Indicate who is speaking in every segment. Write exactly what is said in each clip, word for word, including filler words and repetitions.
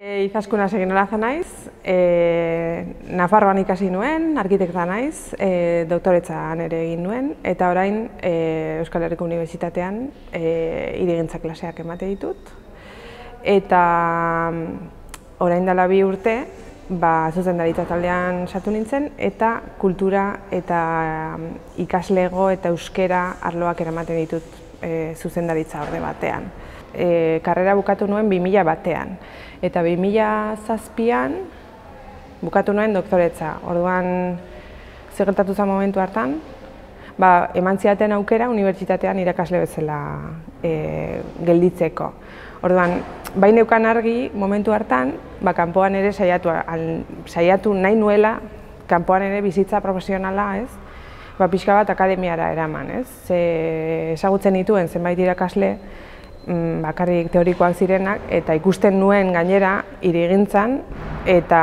Speaker 1: E, Izaskuna Seginola naiz, e, Nafarroan ikasi nuen, arkitekta naiz, e, doktoretzan ere egin nuen, eta orain e, Euskal Herriko Unibertsitatean e, hirigintza klaseak emate ditut. Eta orain dela bi urte, ba, zuzendaritza taldean sartu nintzen, eta kultura eta ikaslego eta euskera arloak eramaten ditut e, zuzendaritza orde batean. E, karrera bukatu nuen bi mila batean, eta bi mila zazpian bukatu nuen doktoretza. Orduan, zer gertatu zen momentu hartan, ba, eman zidaten aukera unibertsitatean irakasle bezala e, gelditzeko. Orduan, bai neukan argi momentu hartan, ba, kanpoan ere saiatu, al, saiatu nahi nuela, kanpoan ere bizitza profesionala, ez? Ba, pixka bat akademiara eraman, ez? Ze, ezagutzen dituen zenbait irakasle, bakarrik teorikoak zirenak, eta ikusten nuen gainera hirigintzan, eta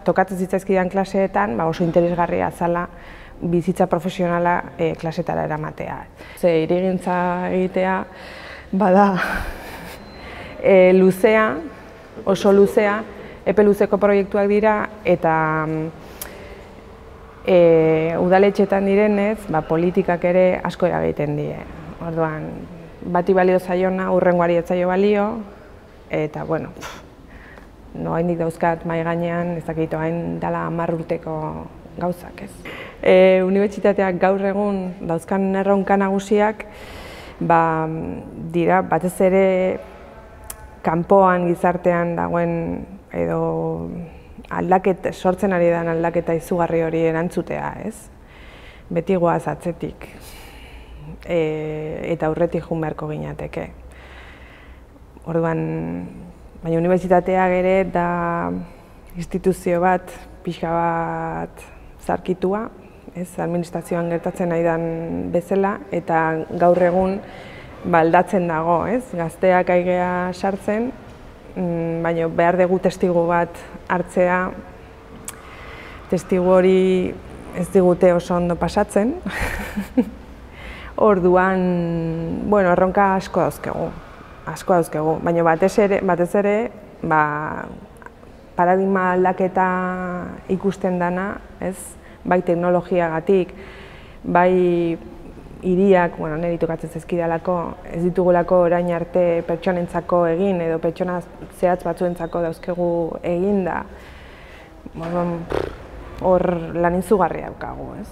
Speaker 1: tokatzen zitzaizkidan klaseetan ba, oso interesgarria zala bizitza profesionala e, klasetara eramatea. Ze hirigintza egitea bada e, luzea, oso luzea, epe luzeko proiektuak dira, eta e, udaletxetan direnez, ba, politikak ere asko eragiten die. Orduan, bati balio zaiona, hurrengoari ez zaio balio, eta, bueno, no haindik dauzkat mai gainean, ez dakit hain dela hamar urteko gauzak, ez. E, Unibertsitateak gaur egun dauzkan erronka nagusiak, ba, dira, batez ere kanpoan gizartean dagoen edo aldaket, sortzen ari den aldaketa izugarri hori erantzutea, ez. Beti goaz atzetik. E, eta aurretik joan beharko ginateke. Orduan, baina unibertsitateak ere da instituzio bat, pixka bat zarkitua, ez, administrazioan gertatzen nahi den bezala, eta gaur egun ba, aldatzen dago, ez, gazteak aigea sartzen, baina behar dugu testigu bat hartzea, testigu hori ez digute oso ondo pasatzen. Orduan, bueno, erronka asko dauzkegu, asko dauzkegu, baina batez ere, batez ere, ba, paradigma aldaketa ikusten dana, ez, bai teknologiagatik, bai hiriak, bueno, niri tokatzen zaizkidalako, ez ditugulako orain arte pertsonentzako egin edo pertsona zehatz batzuentzako dauzkegu eginda, hor lan izugarria daukagu, ez,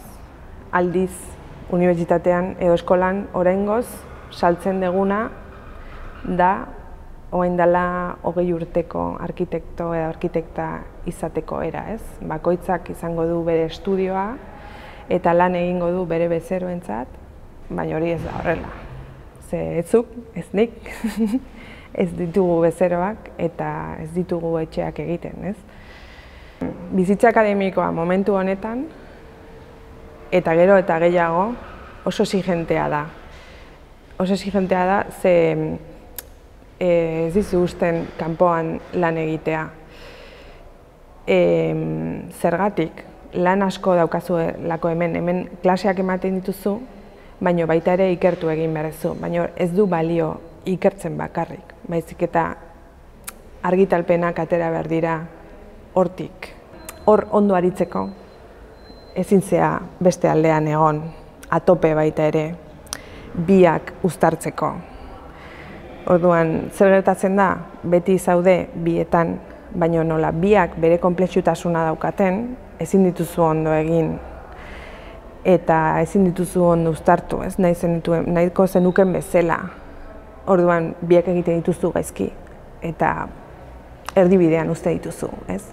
Speaker 1: aldiz, unibertsitatean edo eskolan oraingoz saltzen deguna da orain dela hogei urteko arkitekto edo arkitekta izateko era, ez? Bakoitzak izango du bere estudioa eta lan egingo du bere bezeroentzat, baina hori ez da horrela. Ze etzuk, ez nik, ez ditugu bezeroak eta ez ditugu etxeak egiten, ez? Bizitza akademikoa momentu honetan eta gero eta gehiago oso exigentea da. Oso exigentea da, ze e, ez dizu usten kanpoan lan egitea. E, zergatik, lan asko daukazuelako hemen, hemen klaseak ematen dituzu, baina baita ere ikertu egin beharrezu, baina ez du balio ikertzen bakarrik, baizik eta argitalpenak atera behar dira hortik. Hor ondo aritzeko, ezin zea beste aldean egon, atope baita ere, biak uztartzeko. Orduan, zer gertatzen da, beti zaude bietan, baina nola biak bere konplexutasuna daukaten, ezin dituzu ondo egin, eta ezin dituzu ondo uztartu, ez, nahi zenituen, nahiko zenuken bezala. Orduan, biak egiten dituzu gaizki, eta erdibidean uzte dituzu, ez.